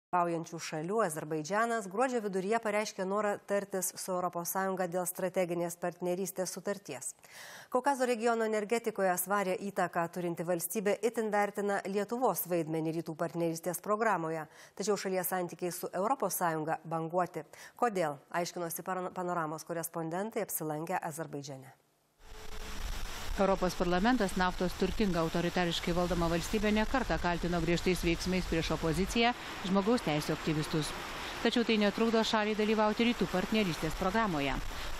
Dalyvaujančių šalių Azerbaidžanas gruodžio viduryje pareiškė norą tartis su ES dėl strateginės partnerystės sutarties. Kaukazo regiono energetikoje svarią įtaką turinti valstybė itin vertina Lietuvos vaidmenį rytų partnerystės programoje, tačiau šalies santykiai su ES banguoti. Kodėl? Aiškinosi Panoramos korespondentai apsilankę Azerbaidžane. Europos parlamentas naftos turtinga autoritariškai valdoma valstybė nekartą kaltino griežtais veiksmais prieš opoziciją, žmogaus teisių aktyvistus. Tačiau tai netrukdo šaliai dalyvauti rytų partnerystės programoje.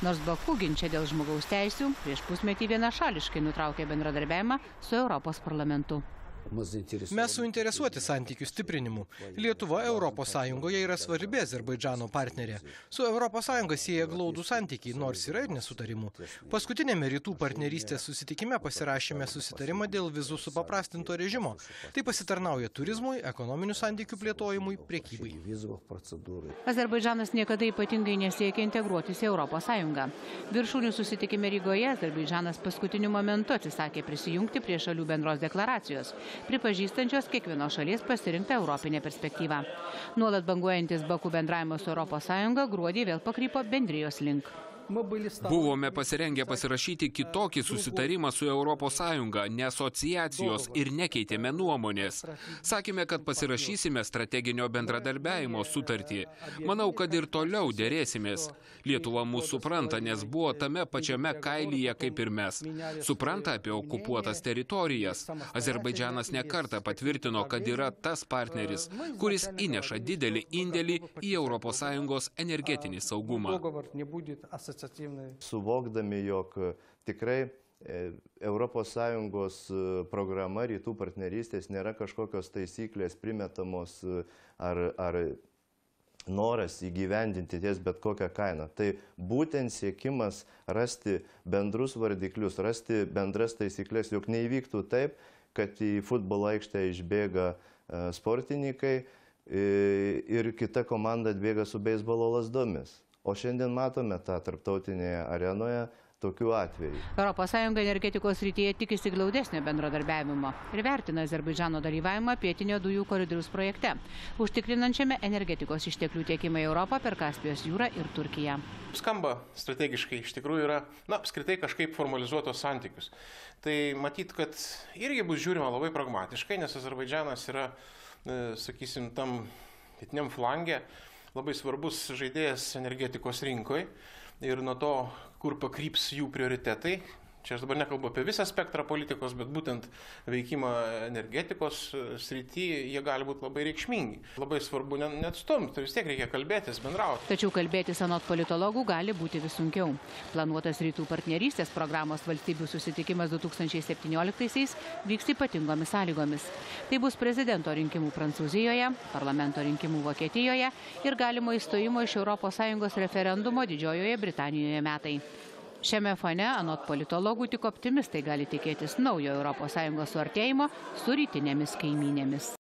Nors Baku ginčia dėl žmogaus teisių, prieš pusmetį vienašališkai nutraukė bendradarbiavimą su Europos parlamentu. Mes suinteresuoti santykių stiprinimu. Lietuva ES yra svarbi Azerbaidžano partnerė. Su ES sieja glaudų santykiai, nors yra ir nesutarimų. Paskutinėme rytų partnerystės susitikime pasirašėme susitarimą dėl vizų supaprastinto režimo. Tai pasitarnauja turizmui, ekonominių santykių plėtojimui, prekybai. Azerbaidžanas niekada ypatingai nesiekia integruotis į ES. Viršūnių susitikime Rygoje Azerbaidžanas paskutiniu momentu atsisakė prisijungti prie šalių bendros deklaracijos, pripažįstančios kiekvienos šalies pasirinktą europinę perspektyvą. Nuolat banguojantis Baku bendravimas su ES gruodį vėl pakrypo bendrijos link. Buvome pasirengę pasirašyti kitokį susitarimą su ES, ne asociacijos ir nekeitėme nuomonės. Sakėme, kad pasirašysime strateginio bendradarbiavimo sutartį. Manau, kad ir toliau dėrėsimės. Lietuva mūsų supranta, nes buvo tame pačiame kailyje kaip ir mes. Supranta apie okupuotas teritorijas. Azerbaidžanas nekartą patvirtino, kad yra tas partneris, kuris įneša didelį indėlį į ES energetinį saugumą. Suvokdami, jog tikrai ES programa rytų partnerystės nėra kažkokios taisyklės primetamos ar noras įgyvendinti ties bet kokią kainą. Tai būtent siekimas rasti bendrus vardiklius, rasti bendras taisyklės, jog neįvyktų taip, kad į futbolo aikštę išbėga sportininkai ir kita komanda atbėga su beisbolo lazdomis. O šiandien matome tą tarptautinėje arenoje tokių atvejų. ES energetikos srityje tikisi glaudesnio bendradarbiavimo ir vertina Azerbaidžano dalyvavimą pietinio dujų koridoriaus projekte, užtikrinančiame energetikos išteklių tiekimą į Europą per Kaspijos jūrą ir Turkiją. Skamba strategiškai, iš tikrųjų yra, apskritai kažkaip formalizuotos santykius. Tai matyt, kad irgi bus žiūrima labai pragmatiškai, nes Azerbaidžanas yra, sakysim, tam pietiniam flange labai svarbus žaidėjas energetikos rinkoje ir nuo to, kur pakryps jų prioritetai. Čia aš dabar nekalbu apie visą spektrą politikos, bet būtent veikimą energetikos srityje jie gali būti labai reikšmingi. Labai svarbu neatstumti, tai vis tiek reikia kalbėtis, bendrauti. Tačiau kalbėtis anot politologų gali būti vis sunkiau. Planuotas rytų partnerystės programos valstybių susitikimas 2017-aisiais vyks ypatingomis sąlygomis. Tai bus prezidento rinkimų Prancūzijoje, parlamento rinkimų Vokietijoje ir galimo įstojimo iš ES referendumo Didžiojoje Britanijoje metai. Šiame fone, anot politologų, tik optimistai gali tikėtis naujo ES suartėjimo su rytinėmis kaimynėmis.